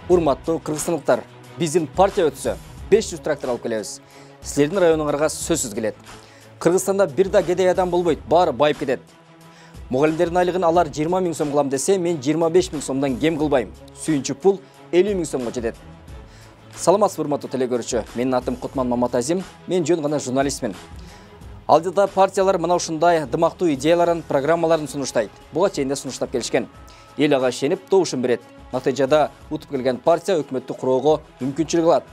Урматтуу кыргызстандыктар, биздин партия өтсө 500 трактор алып келебиз. Силердин районуңарга сөзсүз келет. Кыргызстанда бир да кедей адам болбойт, баары байып кетет. Мугалимдердин айлыгын алар 20 000 сом кылам десе, мен 25 000 сомдон кем кылбайм. Сүйүнчү пул 50 000 сомго жетет. Саламатсызбы, урматтуу телекөрүүчү. Менин атым Кутман Маматазим, мен жөн гана журналистмин. Алдыда партиялар мына ушундай дымактуу идеяларын, программаларын сунуштайт. Буга чейин да сунуштап келишкен. Эл ага ишенип, добушун берет. Натыйжада утуп келген партия өкмөттү куроого мүмкүнчүлүк алат.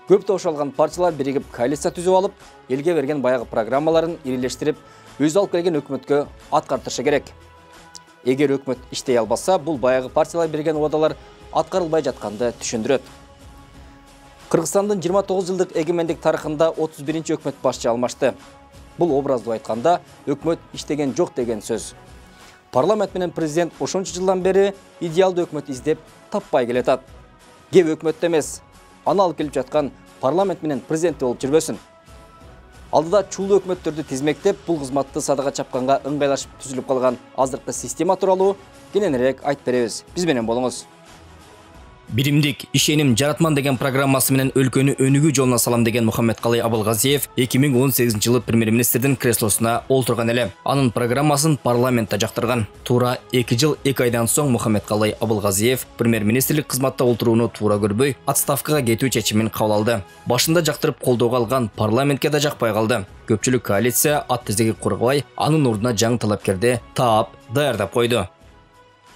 Көп добуш алган партиялар биригип коалиция түзүп алып, элге берген баягы программаларын ирилештирип, өзү алып келген өкмөткө аткартышы керек. Эгер өкмөт иштей албаса, бул баягы партиялар берген убадалар аткарылбай жатканды түшүндүрөт. Кыргызстандын 29 жылдык эгемендик тарыхында 31-чи өкмөт башчы алмашты. Бул образдуу айтканда өкмөт иштеген жок деген сөз. Парламент менен президент ошончу жылдан бери идеалдуу өкмөт издеп таппай келатат. Кеп өкмөттө эмес, аны алып келип жаткан парламент менен президент болуп жүрбөсүн. Алдыда чулуу өкмөттөрдү тизмектеп, бул кызматты садага чапканга ыңгайлашып түзүлүп калган азыркы система тууралуу кененирээк айтып беребиз. Биз менен болуңуз. Биримдик, ишеним, жаратман деген программасы менен өлкөнү өнүгүү жолуна салам деген Мухаммедкалый Абылгазиев 2018-жылы премьер-министрдин креслосуна олтурган эле. Анын программасын парламентте жактырган. Туура 2 жыл 2 айдан соң Мухаммедкалый Абылгазиев премьер-министрлик кызматта олтурууну туура көрбөй, отставкага кетүү чечимин кабыл алды. Башында жактырып колдоого алган парламентке да жакпай калды. Көпчүлүк коалиция ат тизеги кургабай, анын ордуна жаңы талапкерди таап, даярдап койду.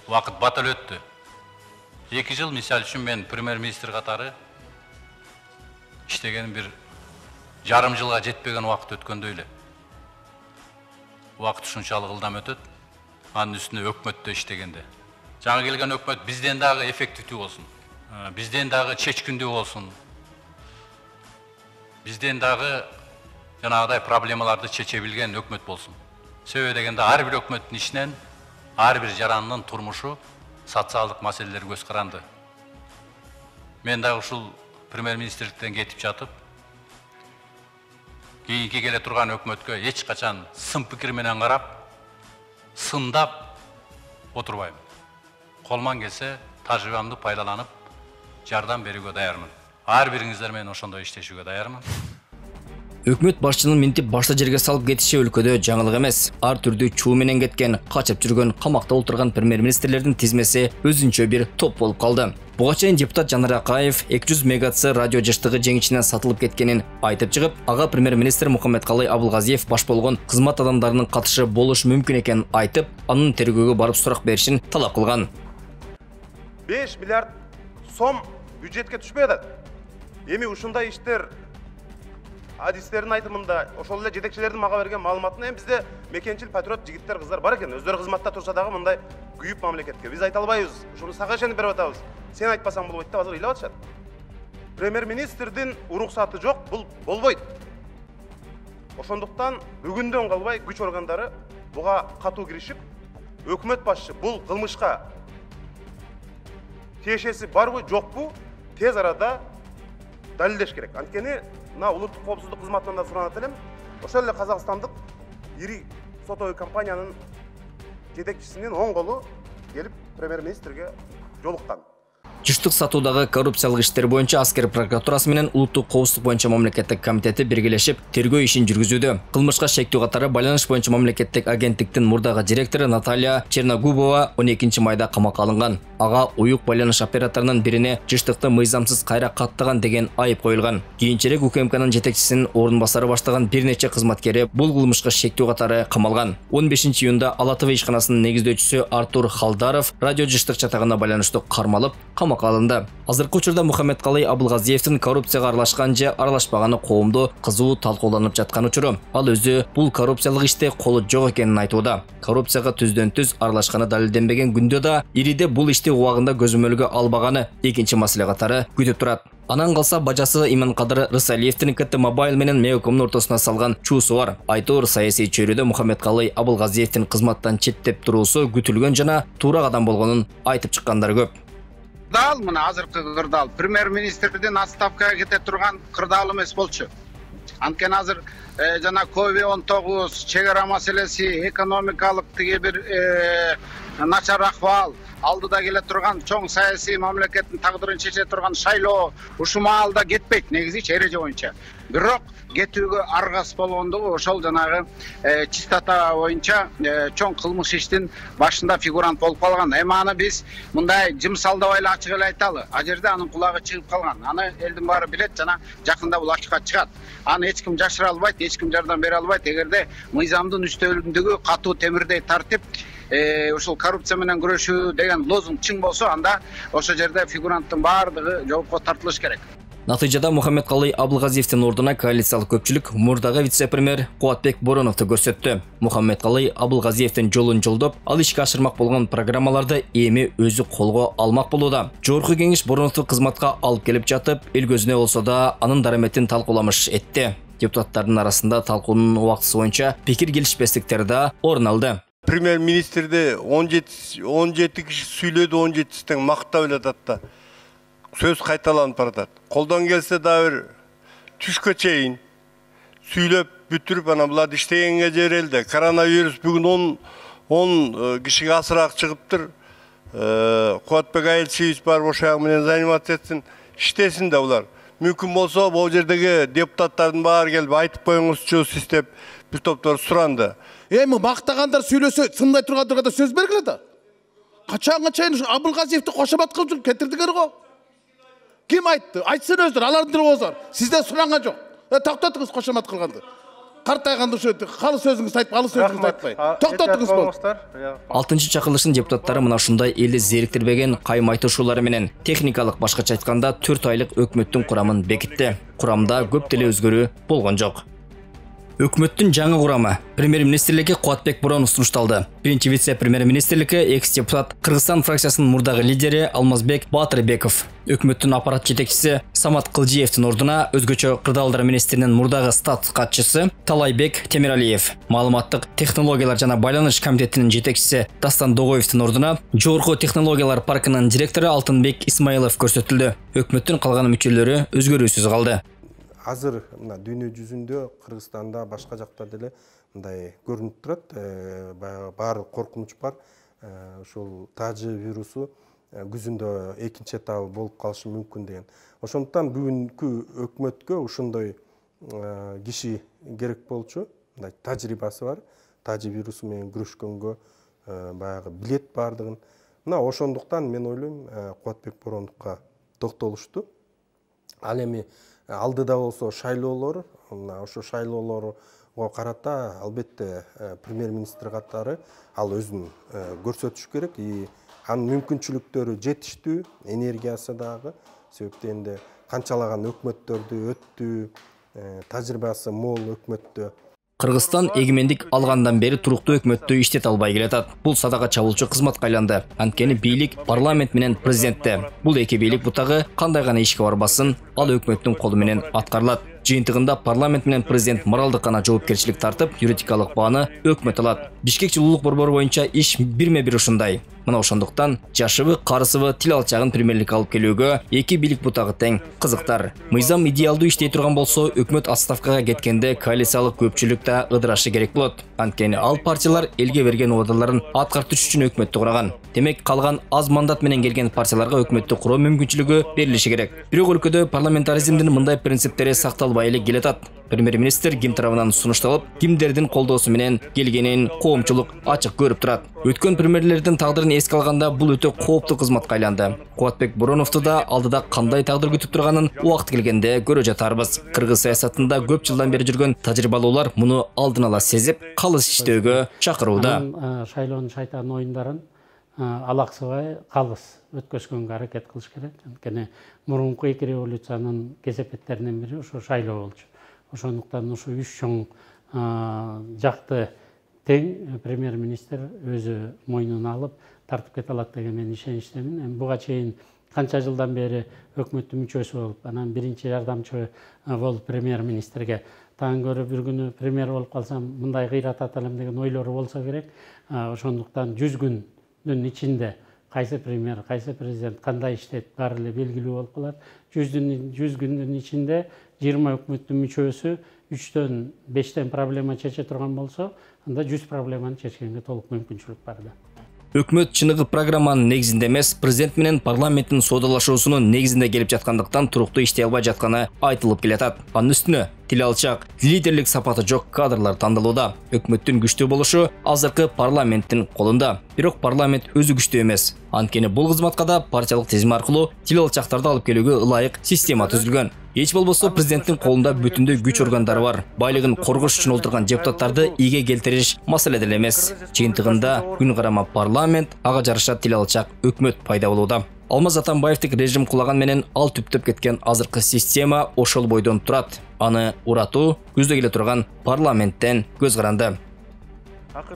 Убакыт батыл өттү. 2 жыл мисал үчүн мен премьер-министр катары иштеген бир жарым жылга жетпеген убакыт өткөндөй эле. Убакыт ушунчалык ылдам өтөт. Анын үстүнө өкмөттө иштегенде. Жаңы келген өкмөт бизден дагы эффективдүү болсун. Бизден дагы чечкиндүү болсун. Бизден дагы жанагыдай проблемаларды чече билген өкмөт болсун. Себеби дегенде ар бир өкмөттүн ишинен ар бир жарандын турмушу социалдык маселелер көз каранды. Мен дагы ушул премьер-министрликтен кетип жатып, кийинки келе турган өкмөткө эч качан сын пикир менен карап, сындап отурбайм. Колман келсе, тажрыйбамды пайдаланып, жардам берүүгө даярмын. Ар бириңиздер менен ошондой иштешүүгө даярмын. Өкмөт башчынын минтип башта жерге салып кетиши өлкөдө жаңылык эмес. Ар түрдүү чуу менен кеткен, качып жүргөн, камакта олтурган премьер-министрлердин тизмеси өзүнчө бир топ болуп калды. Буга чейин депутат Жанар Акаев 200 мегатс радио жыштыгы жеңичинен сатылып кеткенин айтып чыгып, ага премьер-министр Мухаммедкалый Абылгазиев баш болгон кызмат адамдарынын катышы болушу мүмкүн экенин айтып, анын тергөөгө барып сурак беришин талап кылган. 5 миллиард сом бюджетке түшпөй атат. Эми ушундай иштер адистердин айтымында ошол эле жетекчилердин мага берген маалыматына бизде мекенчил патриот жигиттер, кыздар бар экен. Өздөрү кызматта турса дагы мындай күйүп мамлекетке биз айта албайбыз. Ушуну сага ишенип берип атабыз. Сен айтпасаң болбойт деп азыр ыйлап атышат. Премьер-министрдин уруксаты жок, бул болбойт. Ошондуктан бүгүндөн калбай күч органдары буга катуу киришип, өкмөт башчы бул кылмышка тиешеси барбы, жокпу, тез арада далилдеш керек. Анткени мына улуттук коопсуздук кызматынан да суранат элем. Ошол эле казакстандык ири сотовый компаниянын жетекчисинин оң колу келип премьер-министрге жолуккан. Жыштык сатуудагы коррупциялык иштер боюнча аскер прокуратурасы менен улуттук коопсуздук боюнча мамлекеттик комитети биргелешип тергөө ишин жүргүзүүдө. Кылмышка шектүү катары байланыш боюнча мамлекеттик агенттиктин мурдагы директору Наталья Черногубова 12 майда камакка алынган. Ага уюк байланыш операторунун бирине жыштыкты мыйзамсыз кайра каттаган деген айып коюлган. Кийинчерээк УКМКнын жетекчисинин орун басары баштаган бир нече кызматкери бул кылмышка шектүү катары камалган. 15 июнда Ала ТВ ишканасынын негиздөөчүсү Артур Халдаров радио жыштык чатагына байланыштуу кармалып, камакка алынды. Азыркы учурда Мухаммедкалый Абылгазиевдин коррупцияга аралашкан же аралашпаганы коомдо кызуу талкууланып жаткан учуру. Ал өзү бул коррупциялык иште колу жок экенин айтууда. Коррупцияга түздөн-түз аралашканы далилденбеген күндө да ириде бул ишти убагында көзөмөлгө албаганы экинчи маселе катары күтүп турат. Анан калса бажасы Иманкадыр Рысалиевдин КТ Мобайл менен Меокомдун ортосуна салган чуусу бар. Айтор саясий чөйрөдө Мухаммедкалый Абылгазиевдин кызматтан четтеп туруусу күтүлгөн жана туура кадам болгонун айтып чыккандар көп. Кырдаал мына азыркы кырдаал премьер-министрдин отставкага кете турган кырдаал эмес болчу. Анткени азыр жана COVID-19 чегара маселеси, экономикалык тиги бир начар акыбал, алдыда келе турган чоң саясий мамлекеттин тагдырын чече турган шайлоо ушул маалда кетпейт негизичи эреже боюнча. Бирок кетүүгө аргас болгондугу ошол жанагы чистота боюнча чоң кылмыш иштин башында фигурант болуп калган. Эми аны биз мындай жымсалдабай эле ачык эле айталы. А жерде анын кулагы чыгып калган. Аны элдин баары билет жана жакында бул ачыкка чыгат. Аны эч ким жашыра албайт, эч ким жардам бере албайт. Эгерде мыйзамдын үстөлүндөгү катуу темирдей тартип ушул коррупция менен күрөшүү деген лозунг чың болсо, анда ошол жерде фигуранттын баардыгы жоопко тартылыш керек. Натыйжада Мухаммедкалый Абылгазиевдин ордуна коалициялык көпчүлүк мурдагы вице-премьер Кубатбек Бороновду көрсөттү. Мухаммедкалый Абылгазиевдин жолун жолдоп, ал ишке ашырмак болгон программаларды эми өзү колго алмак болууда. Жогорку кеңеш Бороновду кызматка алып келип жатып, эл көзүнө болсо да анын дараметин талкууламыш этти. Депутаттардын арасында талкуунун убактысы боюнча пикир келишпестиктер да орун алды. Премьер-министрди 17 киши сүйлөдү, 17 тең мактап эле атат да. Сөз кайталанып баратат. Колдон келсе да бир түшкө чейин сүйлөп бүтүрүп анан буларды иштегенге жерелди. Коронавирус бүгүн 10 кишиге асыраак чыгыптыр. Кубатбек айылчыбыз бар ошол менен заниматься этсин, иштесин да булар. Мүмкүн болсо бул жердеги депутаттардын баары келип айтып коюңузчу сиз деп бир топтор суранды. Эми мактагандар сүйлөсө, сындай тургандарга сөз бергиле да. Качанга чейин Абылгазиевди кошомат кылып жүрүп кетирдиңер го. Ким айтты? Айтсын өздөр, алардын тили болсор. Сизден суранган жок. Токтотуңуз кошомат кылганды. Картайганды ошо калы сөзүңүздү айтып, алы сөзүңүздү айтпай. Токтотуңуз болду. 6-чакырылыштын депутаттары мына ушундай элди зериктирбеген кайым айтышуулары менен техникалык башкача айтканда 4 айлык өкмөттүн курамын бекитти. Курамда көп деле өзгөрүү болгон жок. Өкмөттүн жаңы курамы премьер-министрликке Кубатбек Боронов сунушталды. Биринчи вице-премьер-министрликке экс-депутат Кыргызстан фракциясынын мурдагы лидери Алмазбек Батырбеков, өкмөттүн аппарат жетекчиси Самат Кылжиевдин ордуна өзгөчө кырдаалдар министринин мурдагы стат катчысы Талайбек Темиралиев, маалыматтык технологиялар жана байланыш комитетинин жетекчиси Дастан Догоевдин ордуна Жогорку технологиялар паркынын директору Алтынбек Исмаилов көрсөтүлдү. Өкмөттүн калган мүчөлөрү өзгөрүүсүз калды. Азыр мына дүйнө жүзүндө Кыргызстанда башка жакта деле мындай көрүнүп турат. Баары коркунуч бар. Ушул тажы вирусу күзүндө экинчи этабы болуп калышы мүмкүн деген. Ошондуктан бүгүнкү өкмөткө ошондой киши керек болчу. Мындай тажрыйбасы бар. Тажы вирусу менен күрөшкөнгө баягы билет бардыгын. Мына ошондуктан мен ойлойм Кубатбек Бороновго токтолушту. Ал эми алдыда болсо шайлоолор, ошо шайлоолорго карата албетте премьер-министр катары ал өзүн көрсөтүш керек. Анын мүмкүнчүлүктөрү жетиштүү, энергиясы дагы. Себептен энди канчалаган өкмөттөрдү өттү, тажрыйбасы мол өкмөттө. Кыргызстан эгемендик алгандан бери туруктуу өкмөттү иштете албай келатат. Бул садака чабуулчу кызматка айланды. Анткени бийлик парламент менен президентте. Бул эки бийлик бутагы кандай гана ишке барбасын, ал өкмөттүн колу менен аткарылат. Жыйынтыгында парламент менен президент моралдык гана жоопкерчилик тартып, юридикалык бааны өкмөт алат. Бишкек жылуулук борбору боюнча иш бирме-бир ушундай. Мына ошондуктан жашыбы, карысыбы, тил алчагын премьерликке алып келүүгө эки бийлик бутагы тең кызыктар. Мыйзам идеалдуу иштей турган болсо, өкмөт отставкага кеткенде коалициялык көпчүлүк да ыдырашы керек болот. Анткени ал партиялар элге берген убадаларын аткартыш үчүн өкмөттү кураган. Демек, калган аз мандат менен келген партияларга өкмөттү куруу мүмкүнчүлүгү берилиши керек. Бирок өлкөдө парламентаризмдин мындай принциптери сакталбай эле келатат. Премьер-министр ким тарабынан сунушталып, кимдердин колдоосу менен келгенин коомчулук ачык көрүп турат. Өткөн премьерлердин тагдырын эске алганда бул өтө кооптуу кызматка айланды. Кубатбек Бороновду да алдыда кандай тагдыр күтүп турганын убакыт келгенде көрө жатарбыз. Кыргыз саясатында көп жылдан бери жүргөн тажрыйбалуулар муну алдын ала сезип, калыс иштөөгө чакырууда. Шайлоонун шайтан оюндарын алаксыбай калыс өткөзгөнгө аракет кылыш керек. Анткени мурунку эки революциянын кесепеттеринин бири ошо шайлоо болчу. Ошондуктан ушу үч чоң жакты тең премьер-министр өзү мойнуна алып тартып кете алат деген мен ишеничтемин. Буга чейин канча жылдан бери өкмөттүн мүчөсү болуп, анан биринчи жардамчы болуп премьер-министрге таң көрүп бир күнү премьер болуп калсам мындай кыйрат аталам деген ойлору болсо керек. Ошондуктан 100 күндүн ичинде кайсы премьер, кайсы президент кандай иштейт баары эле белгилүү болуп калат. 100 күндүн ичинде 20 өкмөттүн мүчөсү 3төн 5тен проблема чече турган болсо, анда 100 проблеманы чечкенге толук мүмкүнчүлүк бар да. Өкмөт чыныгы программанын негизинде эмес, президент менен парламенттин соодалашуусунун негизинде келип жаткандыктан туруктуу иштей албай жатканы айтылып келатат. Анын үстүнө тил алчак, лидерлик сапаты жок кадрлар тандалууда. Өкмөттүн күчтүү болушу азыркы парламенттин колунда. Бирок парламент өзү күчтүү эмес. Анткени бул кызматка да партиялык тизим аркылуу тил алчактарды алып келүүгө ылайык система түзүлгөн. Эч болбосо президенттин колунда бүтүндөй күч органдары бар. Байлыгын коргош үчүн олтурган депутаттарды ийге келтириш маселе деле эмес. Жыйынтыгында күн карама парламент, ага жараша тил алчак өкмөт пайда болууда. Алмаз Атамбаевдик режим кулаган менен ал түптөп кеткен азыркы система ошол бойдон турат. Аны уратуу көздө келе турган парламенттен көз каранды.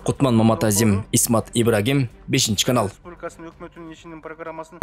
Кутман Маматазим, Исмат Ибрагим, 5-канал. Республикасынын өкмөтүнүн ишинин программасын